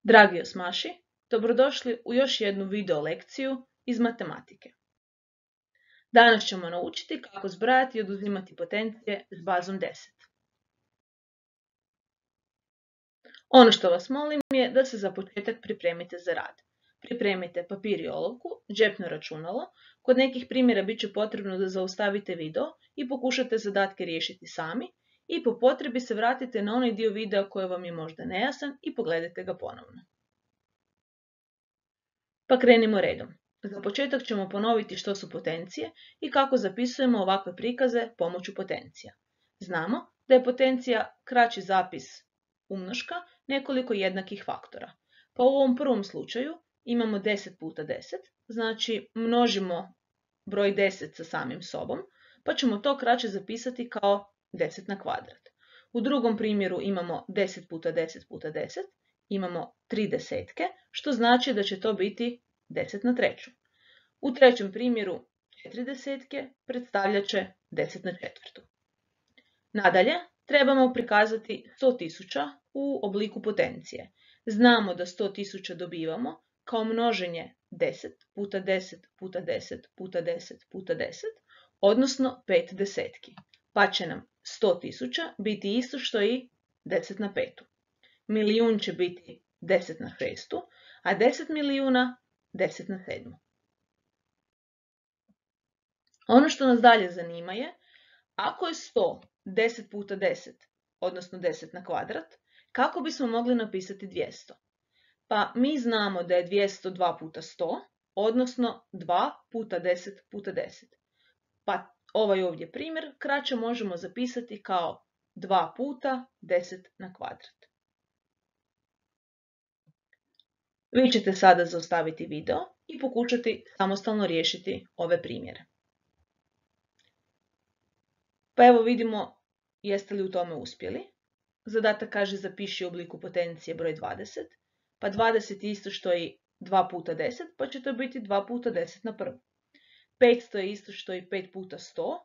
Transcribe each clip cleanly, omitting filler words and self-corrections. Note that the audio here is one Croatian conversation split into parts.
Dragi osmaši, dobrodošli u još jednu video lekciju iz matematike. Danas ćemo naučiti kako zbrajati i oduzimati potencije s bazom 10. Ono što vas molim je da se za početak pripremite za rad. Pripremite papir i olovku, džepno računalo, kod nekih primjera bit će potrebno da zaustavite video i pokušate zadatke riješiti sami i po potrebi se vratite na onaj dio videa koji vam je možda nejasan i pogledajte ga ponovno. Pa krenimo redom. Za početak ćemo ponoviti što su potencije i kako zapisujemo ovakve prikaze pomoću potencija. Znamo da je potencija kraći zapis umnoška nekoliko jednakih faktora. Pa u ovom prvom slučaju imamo 10 puta 10, znači množimo broj 10 sa samim sobom, pa ćemo to kraće zapisati kao 10 na kvadrat. U drugom primjeru imamo 10 puta 10 puta 10, imamo 3 desetke, što znači da će to biti 10 na treću. U trećem primjeru 4 desetke predstavljat će 10 na četvrtu. Nadalje, trebamo prikazati 100.000 u obliku potencije. Znamo da 100.000 dobivamo kao množenje 10 puta 10 puta 10 puta 10 puta 10, odnosno 5 desetki. Pa će nam 100.000 biti isto što i 10 na petu. Milijun će biti 10 na šestu, a 10 milijuna 10 na sedmu. Ono što nas dalje zanima je, ako je 100 10 puta 10, odnosno 10 na kvadrat, kako bismo mogli napisati 200? Pa mi znamo da je 200 2 puta 100, odnosno 2 puta 10 puta 10. Pa ovaj ovdje primjer kraće možemo zapisati kao 2 puta 10 na kvadrat. Vi ćete sada zaustaviti video i pokušati samostalno riješiti ove primjere. Pa evo vidimo jeste li u tome uspjeli. Zadatak kaže zapiši u obliku potencije broj 20, pa 20 je isto što i 2 puta 10, pa će to biti 2 puta 10 na prvu. 500 je isto što i 5 puta 100,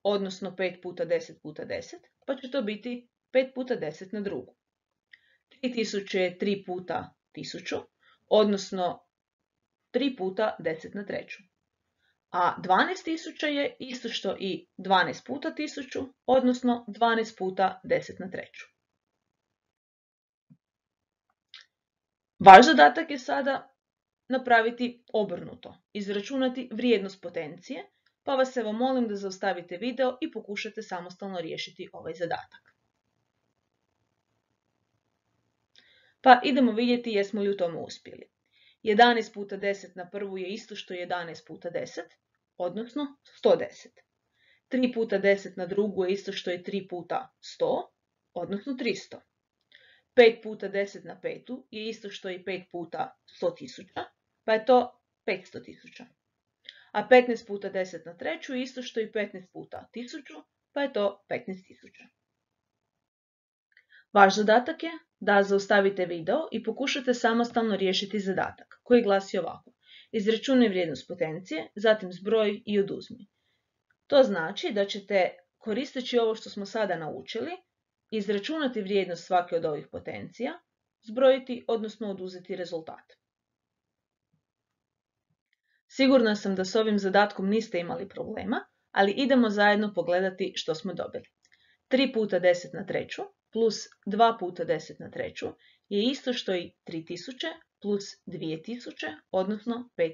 odnosno 5 puta 10 puta 10, pa će to biti 5 puta 10 na drugu. 3000 je 3 puta 1000, odnosno 3 puta 10 na treću. A 12.000 je isto što i 12 puta 1000, odnosno 12 puta 10 na treću. Vaš zadatak je sada napraviti obrnuto, izračunati vrijednost potencije, pa vas evo molim da zaustavite video i pokušate samostalno riješiti ovaj zadatak. Pa idemo vidjeti jesmo li u tome uspjeli. 11 puta 10 na prvu je isto što 11 puta 10, odnosno 110. 3 puta 10 na drugu je isto što je 3 puta 100, odnosno 300. 5 puta 10 na petu je isto što je 5 puta 100.000, pa je to 500.000. A 15 puta 10 na treću je isto što je 15 puta 1000, pa je to 15.000. Vaš zadatak je da zaustavite video i pokušate samostalno riješiti zadatak, koji glasi ovako. Izračunaj vrijednost potencije, zatim zbroj i oduzmi. To znači da ćete, koristeći ovo što smo sada naučili, izračunati vrijednost svake od ovih potencija, zbrojiti, odnosno oduzeti rezultat. Sigurna sam da s ovim zadatkom niste imali problema, ali idemo zajedno pogledati što smo dobili. 3 puta 10 na treću plus 2 puta 10 na treću je isto što i 3000 plus 2000, odnosno 5000.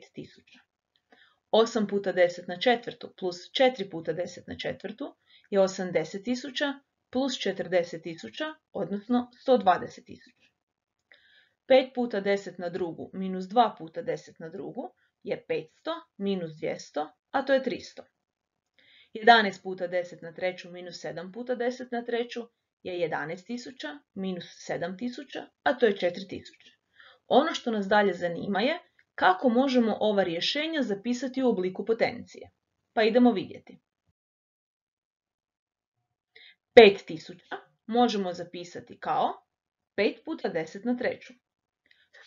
8 puta 10 na četvrtu plus 4 puta 10 na četvrtu je 80.000 plus 40.000, odnosno 120.000. 5 puta 10 na drugu minus 2 puta 10 na drugu je 500 minus 200, a to je 300. 11 puta 10 na treću minus 7 puta 10 na treću je 11.000 minus 7.000, a to je 4.000. Ono što nas dalje zanima je kako možemo ova rješenja zapisati u obliku potencije. Pa idemo vidjeti. 5.000 možemo zapisati kao 5 puta 10 na treću.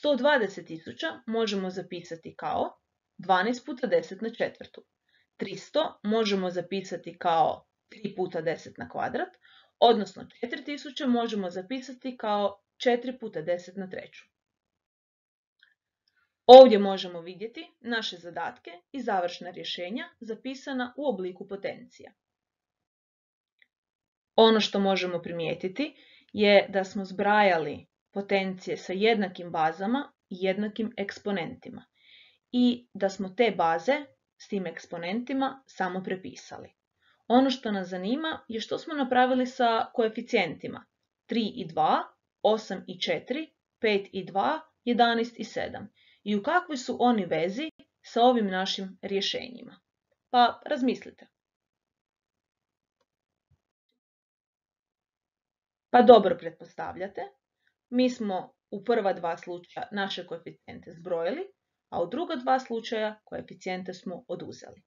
120.000 možemo zapisati kao 12 puta 10 na četvrtu. 300 možemo zapisati kao 3 puta 10 na kvadrat, odnosno 4000 možemo zapisati kao 4 puta 10 na treću. Ovdje možemo vidjeti naše zadatke i završna rješenja zapisana u obliku potencija. Ono što možemo primijetiti je da smo zbrajali potencije sa jednakim bazama i jednakim eksponentima i da smo te baze s tim eksponentima samo prepisali. Ono što nas zanima je što smo napravili sa koeficijentima 3 i 2, 8 i 4, 5 i 2, 11 i 7 i u kakvoj su oni vezi sa ovim našim rješenjima. Pa razmislite. Pa dobro pretpostavljate, mi smo u prva dva slučaja naše koeficijente zbrojili, a u druga dva slučaja koeficijente smo oduzeli.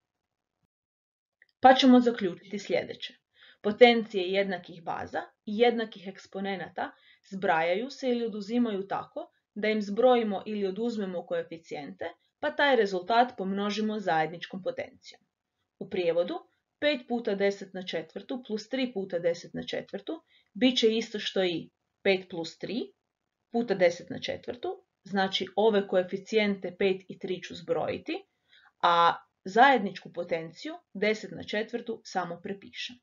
Pa ćemo zaključiti sljedeće. Potencije jednakih baza i jednakih eksponenata zbrajaju se ili oduzimaju tako da im zbrojimo ili oduzmemo koeficijente, pa taj rezultat pomnožimo zajedničkom potencijom. U prijevodu, 5 puta 10 na četvrtu plus 3 puta 10 na četvrtu bit će isto što i 5 plus 3 puta 10 na četvrtu, znači ove koeficijente 5 i 3 ću zbrojiti, a zajedničku potenciju 10 na četvrtu samo prepišem.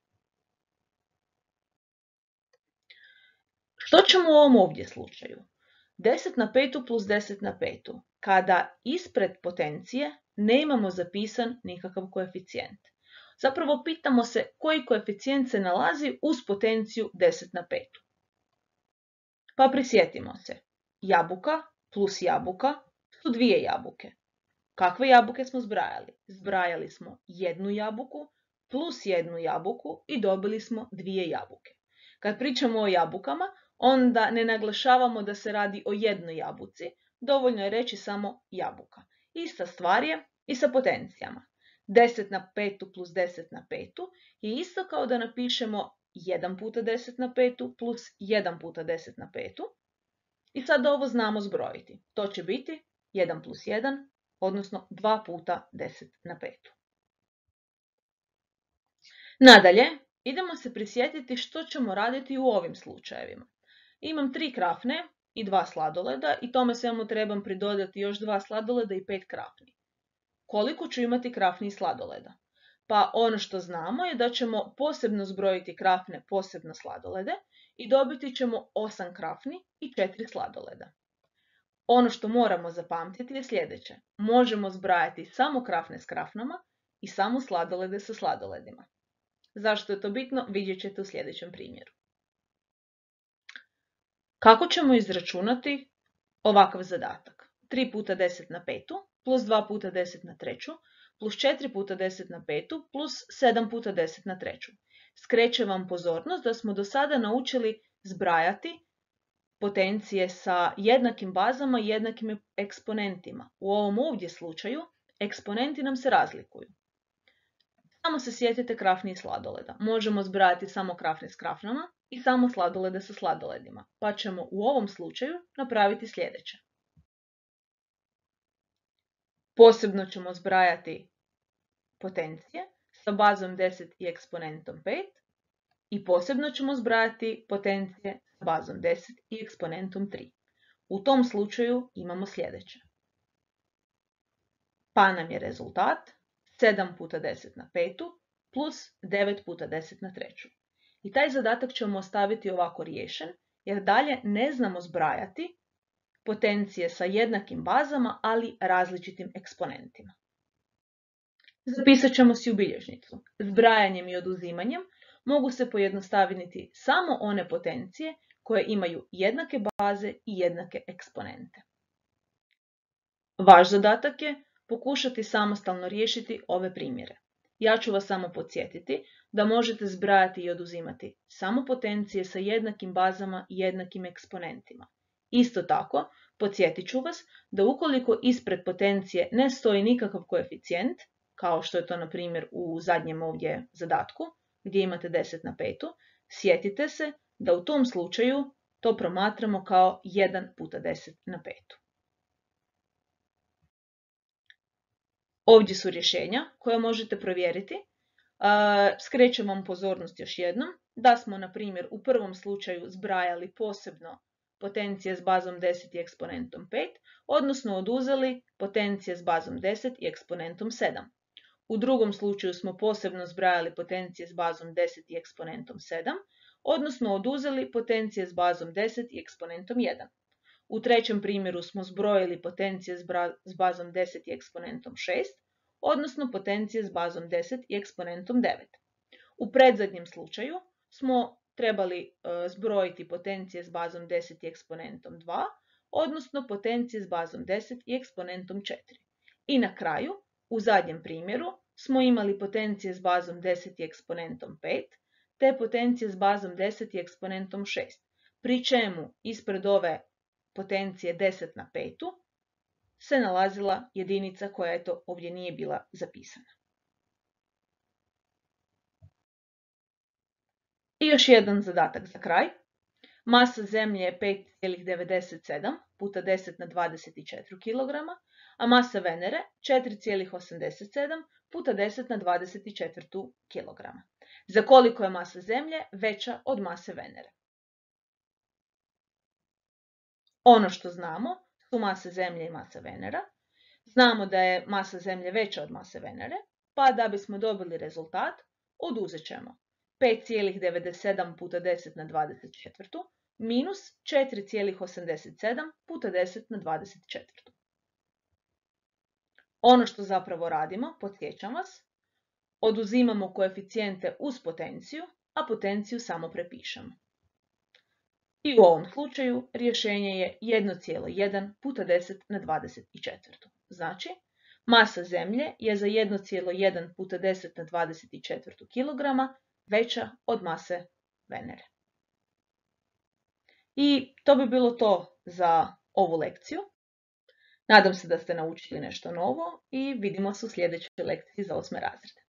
Što ćemo u ovom ovdje slučaju? 10 na petu plus 10 na petu, kada ispred potencije ne imamo zapisan nikakav koeficijent. Zapravo pitamo se koji koeficijent se nalazi uz potenciju 10 na petu. Pa prisjetimo se, jabuka plus jabuka su dvije jabuke. Kakve jabuke smo zbrajali? Zbrajali smo jednu jabuku plus jednu jabuku i dobili smo dvije jabuke. Kad pričamo o jabukama, onda ne naglašavamo da se radi o jednoj jabuci, dovoljno je reći samo jabuka. Ista stvar je i sa potencijama. 10 na petu plus 10 na petu je isto kao da napišemo 1 puta 10 na petu plus 1 puta 10 na petu. I sad ovo znamo zbrojiti. To će biti 1 plus 1, odnosno 2 puta 10 na petu. Nadalje, idemo se prisjetiti što ćemo raditi u ovim slučajevima. Imam 3 krafne i 2 sladoleda i tome svemu trebam pridodati još 2 sladoleda i 5 krafni. Koliko ću imati krafni i sladoleda? Pa ono što znamo je da ćemo posebno zbrojiti krafne, posebno sladolede i dobiti ćemo 8 krafni i 4 sladoleda. Ono što moramo zapamtiti je sljedeće. Možemo zbrajati samo krafne s krafnama i samo sladolede sa sladoledima. Zašto je to bitno, vidjet ćete u sljedećem primjeru. Kako ćemo izračunati ovakav zadatak? 3 puta 10 na petu plus 2 puta 10 na treću plus 4 puta 10 na petu plus 7 puta 10 na treću. Skrećem vam pozornost da smo do sada naučili zbrajati potencije sa jednakim bazama i jednakim eksponentima. U ovom ovdje slučaju eksponenti nam se razlikuju. Samo se sjetite krafni i sladoleda. Možemo zbrajati samo krafne s krafnama i samo sladolede sa sladoledima, pa ćemo u ovom slučaju napraviti sljedeće. Posebno ćemo zbrajati potencije sa bazom 10 i eksponentom 5 i posebno ćemo zbrajati potencije sa bazom 10 i eksponentom 3. U tom slučaju imamo sljedeće. Pa nam je rezultat 7 puta 10 na petu plus 9 puta 10 na treću. I taj zadatak ćemo ostaviti ovako riješen jer dalje ne znamo zbrajati potencije sa jednakim bazama, ali različitim eksponentima. Zapisat ćemo si u bilježnicu. Zbrajanjem i oduzimanjem mogu se pojednostaviti samo one potencije koje imaju jednake baze i jednake eksponente. Vaš zadatak je pokušati samostalno riješiti ove primjere. Ja ću vas samo podsjetiti da možete zbrajati i oduzimati samo potencije sa jednakim bazama i jednakim eksponentima. Isto tako, podsjetit ću vas da ukoliko ispred potencije ne stoji nikakav koeficijent, kao što je to na primjer u zadnjem ovdje zadatku, gdje imate 10 na petu, sjetite se da u tom slučaju to promatramo kao 1 puta 10 na petu. Ovdje su rješenja koje možete provjeriti. Skrećem vam pozornost još jednom da smo, na primjer, u prvom slučaju zbrajali posebno potencije s bazom 10 i eksponentom 5, odnosno oduzeli potencije s bazom 10 i eksponentom 7. U drugom slučaju smo posebno zbrajali potencije s bazom 10 i eksponentom 7, odnosno oduzeli potencije s bazom 10 i eksponentom 1. U trećem primjeru smo zbrojili potencije s bazom 10 i eksponentom 6, odnosno potencije s bazom 10 i eksponentom 9. U predzadnjem slučaju smo trebali zbrojiti potencije s bazom 10 i eksponentom 2, odnosno potencije s bazom 10 i eksponentom 4. I na kraju, u zadnjem primjeru, smo imali potencije s bazom 10 i eksponentom 5, te potencije s bazom 10 i eksponentom 6, pri čemu ispred ove potencije 10 na 5 se nalazila jedinica koja ovdje nije bila zapisana. I još jedan zadatak za kraj. Masa Zemlje je 5,97 puta 10 na 24 kg, a masa Venere 4,87 puta 10 na 24 kg. Za koliko je masa Zemlje veća od mase Venere? Ono što znamo su masa Zemlje i masa Venera. Znamo da je masa Zemlje veća od mase Venere, pa da bismo dobili rezultat, oduzet ćemo 5,97 puta 10 na 24 minus 4,87 puta 10 na 24. Ono što zapravo radimo, podsjećam vas, oduzimamo koeficijente uz potenciju, a potenciju samo prepišemo. I u ovom slučaju rješenje je 1,1 puta 10 na 24. Znači, masa Zemlje je za 1,1 puta 10 na 24 kg veća od mase Venere. I to bi bilo to za ovu lekciju. Nadam se da ste naučili nešto novo i vidimo se u sljedećoj lekciji za 8. razred.